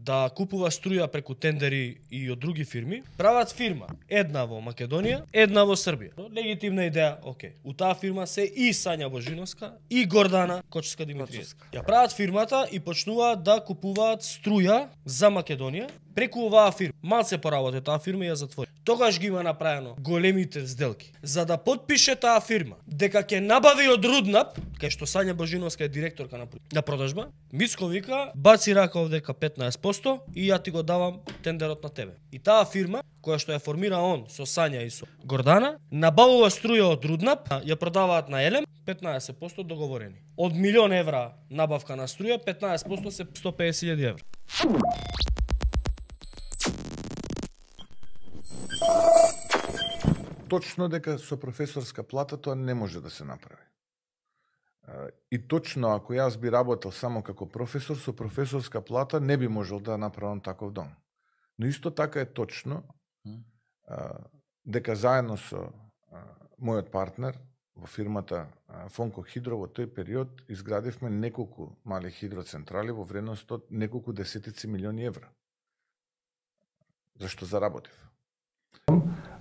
да купува струја преку тендери и од други фирми, прават фирма, една во Македонија, една во Србија. Легитимна идеја, окей. У таа фирма се и Сања Божиновска и Гордана Кочевска-Димитриевска. Ја прават фирмата и почнуваат да купуваат струја за Македонија преку оваа фирма. Малце поработи таа фирма и ја затвори. Тогаш ги има направено големите сделки. За да потпише таа фирма дека ќе набави од Руднап, кај што Сања Божиновска е директорка на продажба, Мицко вика, баци рака овдека 15% и ја ти го давам тендерот на тебе. И таа фирма, која што ја формира он со Сања и со Гордана, набавува струја од Руднап, ја продаваат на Елем, 15% договорени. Од 1.000.000 евра набавка на струја, 15% се 150.000 евра. Точно дека со професорска плата тоа не може да се направи. И точно ако јас би работел само како професор, со професорска плата не би можел да направам таков дом. Но исто така е точно дека заедно со мојот партнер во фирмата Фонко Хидро во тој период изградивме неколку мали хидроцентрали во вредност од неколку десетици милиони евра. Зашто заработив.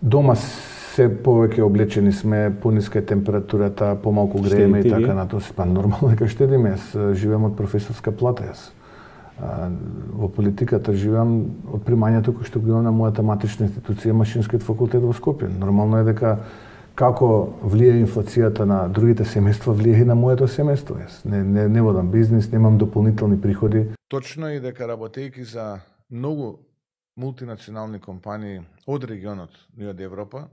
Дома се повеќе облечени сме, пониска е температурата, помалку грееме и така натаму. Па нормално дека штедиме, јас живеам од професорска плата јас. Во политиката живеам од примањето кој што го имам на мојата матична институција, Машинскиот факултет во Скопје. Нормално е дека како влие инфлацијата на другите семејства, влие и на моето семејство. Јас не водам бизнис, немам дополнителни приходи. Точно е дека работејќи за многу мултинационални компании од регионот и од Европа,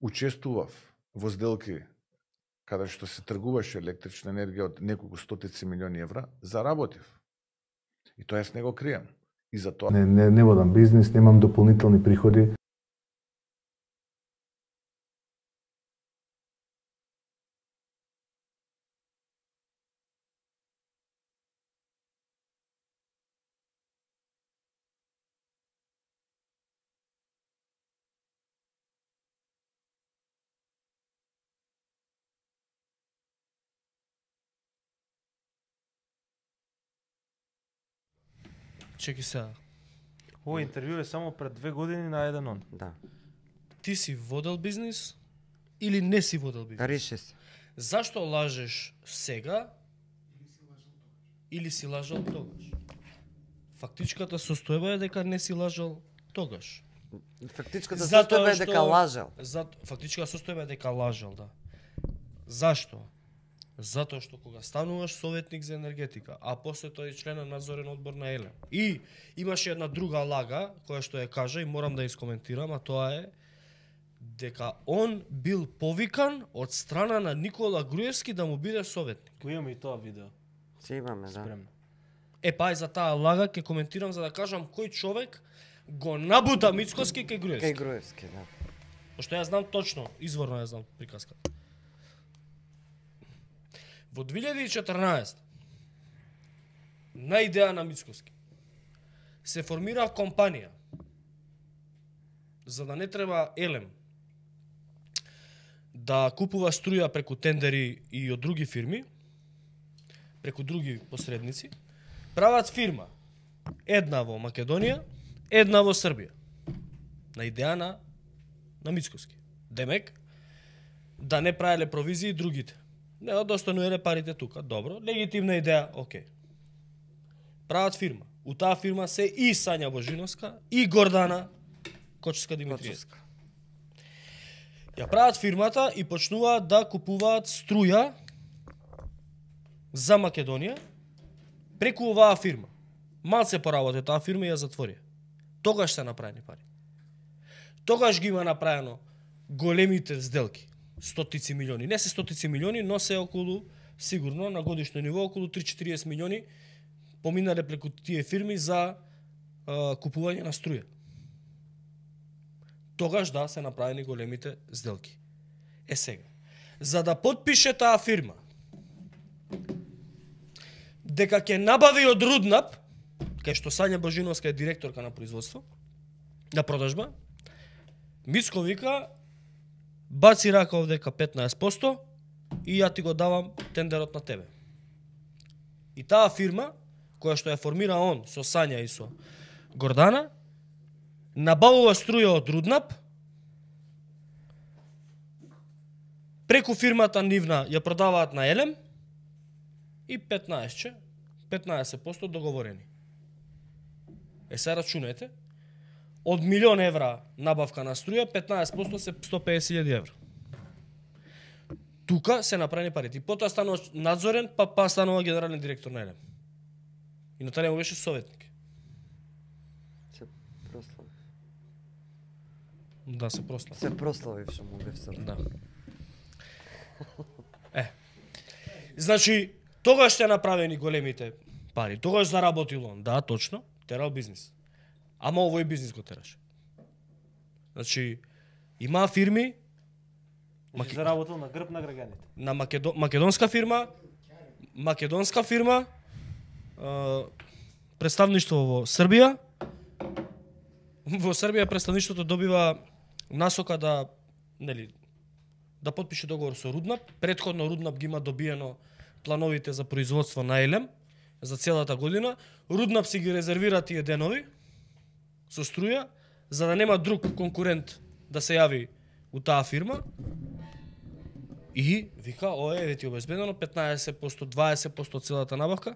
учествував во сделки каде што се тргуваше електрична енергија од неколку стотици милиони евра, заработив. И тоа јас не го кријам. И за тоа не водам бизнис, немам дополнителни приходи. Чеки сега. Ова интервју е само пред 2 години на еден он. Да. Ти си водел бизнис или не си водел бизнис? Реши се. Зашто лажеш сега или си лажал тогаш? Фактичката состојба е дека не си лажал тогаш. Фактичката состојба е дека лажал. Фактичката состојба е дека лажал, да. Зашто? Затоа што кога стануваш советник за енергетика, а после тоа и член на надзорен одбор на Елем. И имаше една друга лага, која што ја кажа и морам да ја искоментирам, а тоа е дека он бил повикан од страна на Никола Груевски да му биде советник. Го имаме и тоа видео. Се имаме, да. Спремно. Па и за таа лага ќе коментирам за да кажам кој човек го набута Мицкоски кај Груевски. Кај Груевски, да. Пошто јас знам точно, изворно ја знам приказката. Во 2014 на идеја на Мицкоски се формира компанија за да не треба Елем да купува струја преку тендери и од други фирми, преку други посредници, прават фирма, една во Македонија, една во Србија, на идеја на Мицкоски. Демек, да не правеле провизии другите. Не, да остануеле парите тука. Добро, легитимна идеја, окей. Прават фирма. У таа фирма се и Сања Божиновска и Гордана Кочевска-Димитриевска. Ја прават фирмата и почнуваат да купуваат струја за Македонија преку оваа фирма. Малце поработи таа фирма и ја затвори. Тогаш се направени пари. Тогаш ги има направено големите сделки. Стотици милиони. Не се стотици милиони, но се околу, сигурно, на годишно ниво, околу 3-40 милиони поминале преку тие фирми за купување на струја. Тогаш да се направени големите сделки. Сега, за да потпише таа фирма дека ќе набави од Руднап, кај што Сања Божиновска е директорка на производство, на продажба, Мицко вика, баци рака овдека 15% и ја ти го давам тендерот на тебе. И таа фирма, која што ја формира он со Сања и со Гордана, набавува струја од Руднап, преку фирмата нивна ја продаваат на Елем и 15% договорени. Се рачунајте, од 1.000.000 евра набавка на струја, 15% се 150.000 евра. Тука се направени парите. И потоа станува надзорен, па станува генерален директор на Елем. И Наталија му беше советник. Се прослави. Да, се прослави. Се прослави што му бев советник. Да. Значи, тогаш ще направени големите пари. Тогаш заработил он. Да, точно. Терал бизнис. Ама овој бизнис го тераше. Значи, има фирми, заработил на грб на граѓаните. На македонска фирма, представништво во Србија. Во Србија представништвото добива насока да потпише договор со Руднап. Претходно Руднап ги има добиено плановите за производство на Елем за целата година. Руднап си ги резервира тие денови со струја, за да нема друг конкурент да се јави у таа фирма. И вика, еве ти обезбедено 15%, 20% од целата набавка.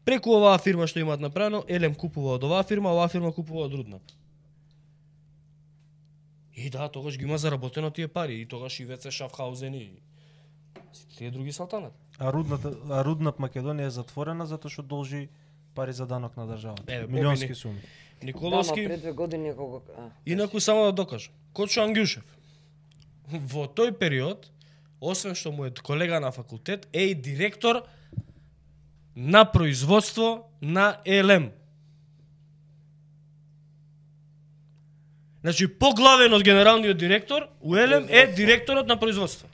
Преку оваа фирма што имаат направено, Елем купува од оваа фирма купува од Руднап. И да, тогаш ги има заработено тие пари. И тогаш и ВЦ Шафхаузен и тие други салтанат. А Руднап Македонија е затворена затоа што должи пари за данок на државата. Милионски суми. Николовски. Да, пред 2 години кога Инаку само да докажам. Кочо Ангјушев. Во тој период, освен што му е колега на факултет, е и директор на производство на Елем. Значи, поглавен од генералниот директор, у Елем е директорот на производство.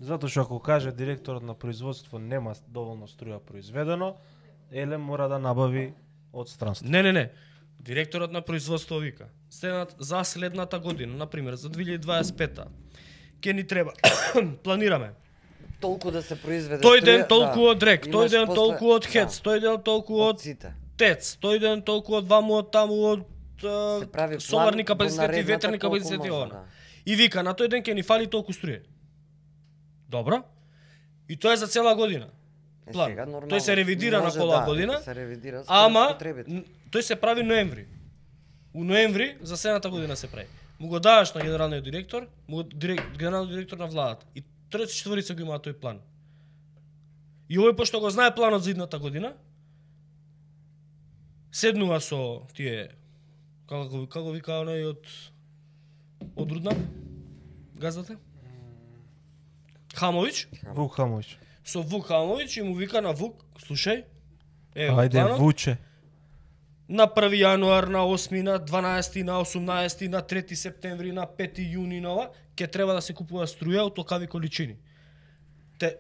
Затоа што ако каже директорот на производство нема доволно струја произведено, Елем мора да набави од странство. Не. Директорот на производство вика, за следната година, например, за 2025-та, ќе ни треба, планираме, толку да се произведе. тој ден толку од Рек, тој ден толку од Хец, тој ден толку од Тец, тој ден толку од ваму, од таму, од соларни капацитети, ветерни капацитети, И вика, на тој ден ќе ни фали толку струја. Добро? И тоа е за цела година. План. Тој се ревидира на пола година, ама тој се прави ноември. У ноември за следната година се прави. Му го даваш на генералниот директор, генералниот директор на владата. И тројца четворица го имаат тој план. И овој пошто го знае планот за идната година, седнува со тие како вика оној од Руднап, газдата? Хамович. Вук Хамович. Со Вук Хамович и му вика на Вук, слушај, ајде планот, Вуче. На 1 јануар, на 8, на 12, на 18, на 3 септември, на 5 јуни нова, ќе треба да се купува струја од толкави количини.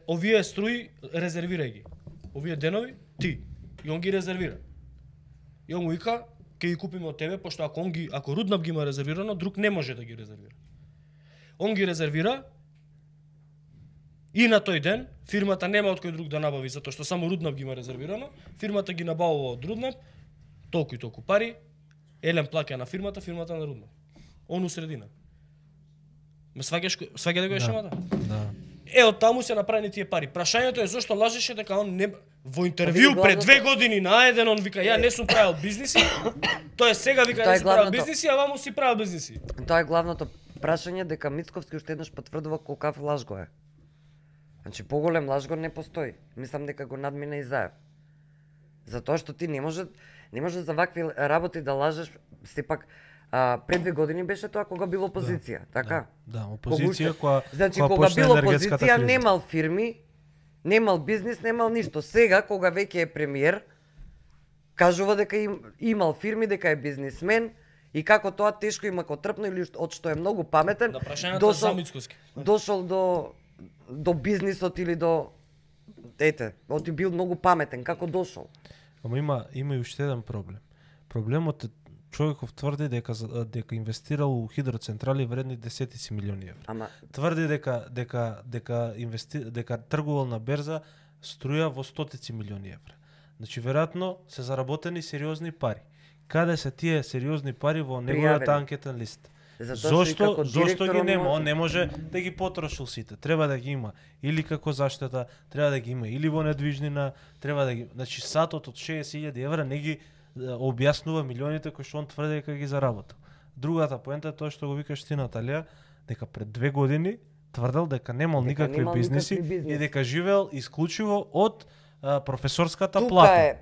Овие струи резервирај ги. Овие денови ти. И он ги резервира. И он му вика, ќе ги купиме од тебе, пошто ако Руднап ги има резервирано, друг не може да ги резервира. Он ги резервира и на тој ден фирмата нема од кој друг да набави, затоа што само Руднап ги има резервирано. Фирмата ги набавува од Руднап, толку и толку пари, Елем плаќа на фирмата на Руднап. Он у средина. Ме сваќаш да го шемата? Да. Од таму се направени тие пари. Прашањето е зошто лажеше дека он не во интервју пред 2 години на еден он вика ја не сум правил бизниси. Тоа сега вика не си правил бизниси, а ваму си правил бизниси. Тоа е главното прашање дека Мицковски уште еднаш потврдува колкав лажго е. Значи поголем лажго не постои. Мислам дека го надмина и Заев. Затоа што ти не може за вакви работи да лажеш, сепак пред 2 години беше тоа кога било опозиција, така? Да, опозиција која значи кога било опозиција немал фирми, немал бизнис, немал ништо. Сега кога веќе е премиер, кажува дека имал фирми, дека е бизнисмен и како тоа тешко има котрпно или од што е многу паметен, дошол до бизнисот или до оти бил многу паметен, како дошол. Ама има и уште еден проблем. Проблемот е Човеков тврди дека инвестирал у хидроцентрали вредни десетици милиони евра. Ама Тврди дека тргувал на берза струја во стотици милиони евра. Значи веројатно се заработени сериозни пари. Каде се тие сериозни пари во неговата анкетен лист? Зошто ги нема? Он не може да ги потрошил сите. Треба да ги има или како заштета, треба да ги има или во недвижнина, треба да ги, значи сатот од 60.000 евра не ги објаснува милионите кои што он тврди дека ги заработил. Другата поента е тоа што го викаш ти, Наталија, дека пред 2 години тврдел дека немал никакви бизнеси и дека живеел исклучиво од професорската плата.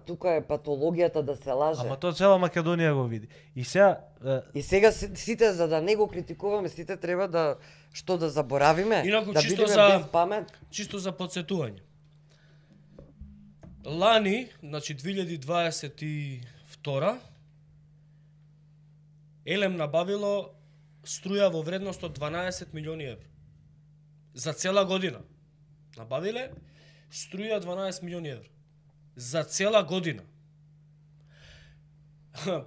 Тука е патологијата да се лаже. Ама тоа цела Македонија го види. И сега сите за да не го критикуваме, сите треба да заборавиме, инаку, да бидеме без памет. Чисто за потсетување. Лани, значи 2022, Елем набавило струја во вредност од 12 милиони евра. За цела година. Набавиле струја 12 милиони евра. За цела година.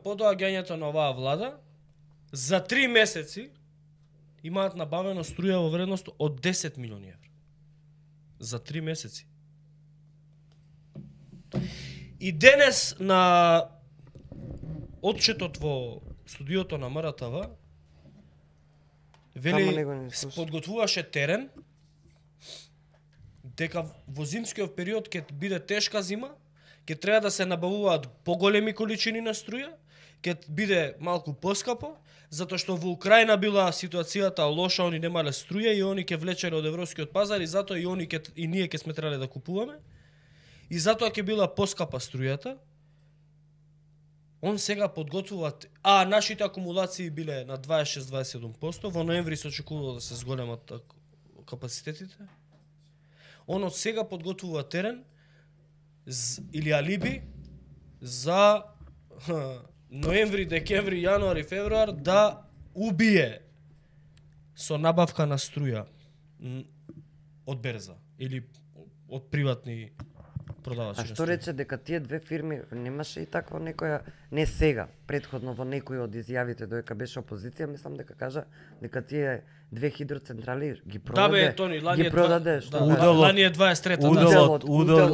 По доаѓањето на оваа влада, за 3 месеци имаат набавено струја во вредност од 10 милиони евра. За 3 месеци. И денес на отчетот во студиото на МРТВ вели подготвуваше терен дека во зимскиот период ќе биде тешка зима, ќе треба да се набавуваат поголеми количини на струја, ќе биде малку поскапо, затоа што во Украина била ситуацијата лоша, они немале струја и они ќе влечеле од европскиот пазар и затоа и ние ќе сме требале да купуваме. И затоа ќе била поскапа струјата. Он сега подготвува, нашите акумулации биле на 26-27%, во ноември се очекувало да се зголемат капацитетите. Он од сега подготвува терен или алиби за ноември, декември, јануари, февруар да убие со набавка на струја од берза или од приватни продавачи. А што рече дека тие две фирми немаше и таква некоја, не сега, претходно во некој од изјавите додека беше опозиција, мислам дека кажа дека тие две хидроцентрали ги продаде. Да бе, Тони, лани е 23-та.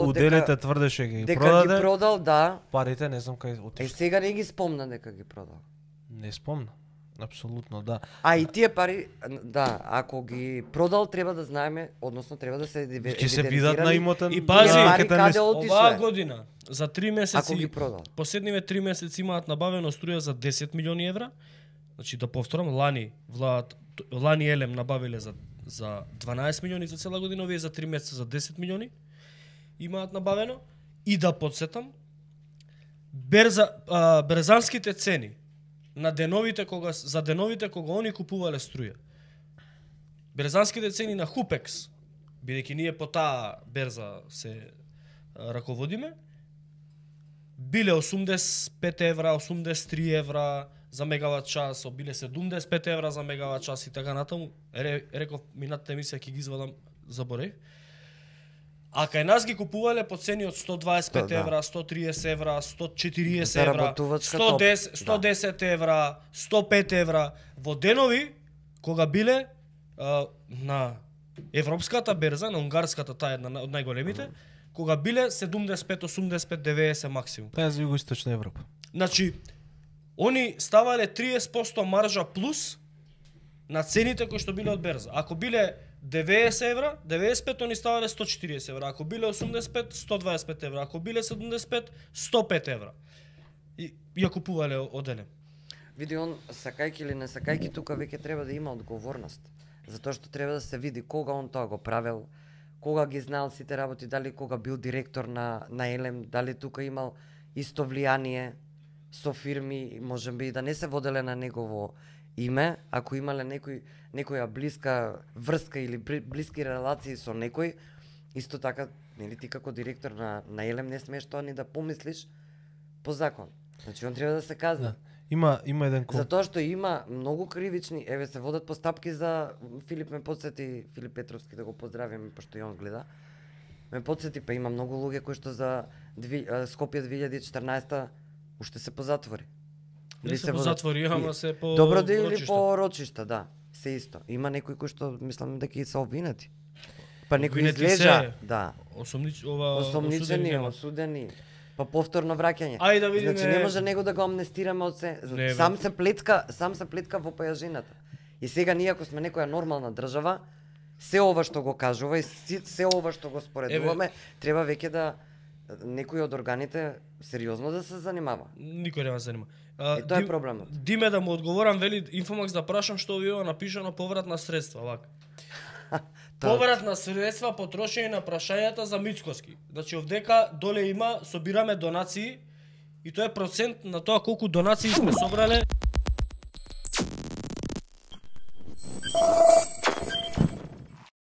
Уделите тврдеше ги продаде. Дека ги продал, да. Парите не знам кај отишли. Сега не ги спомна дека ги продал. Не спомна. Апсолутно, да. И тие пари, да, ако ги продал, треба да знаеме, односно треба да се ќе се видат на имотен. И пази, каде отишле. Оваа година за 3 месеци, ако ги продал. Последниве 3 месеци имаат набавено струја за 10 милиони евра. Значи да повторам, лани Елем набавиле за 12 милиони за цела година, овие за 3 месеца за 10 милиони имаат набавено. И да подсетам, берзанските цени за деновите кога они купувале струја. Берзанските цени на Хупекс, бидејќи ние по таа берза се раководиме, биле 85 евра, 83 евра за мегават час, биле 75 евра за мегават час и така натаму. Реков минатата емисија ќе ги извадам, заборев. А кај нас ги купувале по цени од 125 евра, 130 евра, 140 евра, 110 евра, 105 евра. Во денови, кога биле на европската берза, на унгарската, таа една од најголемите, кога биле 75, 85, 90 максимум. Таа за Југоисточна Европа. Значи, они ставале 30% маржа плюс на цените кои што биле од берза. Ако биле 90 евра, 95 они ставале 140 евра. Ако биле 85, 125 евра. Ако биле 75, 105 евра. И ја купувале од Елем. Види, он, сакајки или не сакајки, тука веќе треба да има одговорност. Затоа што треба да се види кога он тоа го правел, кога ги знаел сите работи, дали кога бил директор на Елем, дали тука имал исто влијание со фирми, можеби и да не се воделе на негово име, ако имале некоја блиска врска или блиски релации со некој, исто така, нели ти како директор на Елем не смееш тоа ни да помислиш по закон. Значи он треба да се казна. Има еден Затоа што има многу кривични, еве се водат постапки за Филип Петровски, да го поздравиме пошто и он гледа. Ме потсети, па има многу луѓе кои што за Скопје 2014 уште се позатвори. Не се по затвори, ама се по добро да или по рочишта, да. Се исто. Има некои кои што мислам дека и се обвинати. Па некои излежа, да. Осомничени, осудени. Па повторно враќање. Ајде да видиме. Значи не може него да го амнестираме од се. Сам се плетка во појажината. И сега ние ако сме некоја нормална држава, се ова што го кажува и се ова што го споредуваме, треба веќе да некој од органите сериозно да се занимава. Никој нема се занима. Тоа е проблемот. Диме да му одговорам, вели Инфомакс да прашам што ви ова напишано повратна средства, вака. Повратна средства потрошени на прашањата за Мицкоски. Значи овдека доле има собираме донации и тоа е процент на тоа колку донации сме собрале